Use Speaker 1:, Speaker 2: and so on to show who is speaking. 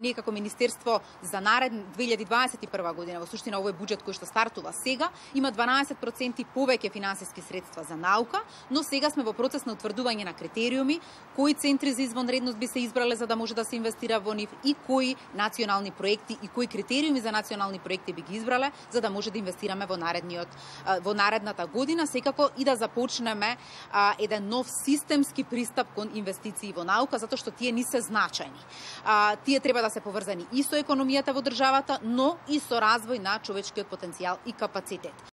Speaker 1: Ние како министерство за наредна 2021 година, во суштина овој буџет кој што стартува сега, има 12% повеќе финансиски средства за наука, но сега сме во процес на утврдување на критериуми, кои центри за извонредност би се избрале за да може да се инвестира во нив и кои национални проекти и кои критериуми за национални проекти би ги избрале за да може да инвестираме во наредната година, секако и да започнеме еден нов системски пристап кон инвестиции во наука, затоа што тие не се значајни. Тие треба да се поврзани и со економијата во државата, но и со развој на човечкиот потенцијал и капацитет.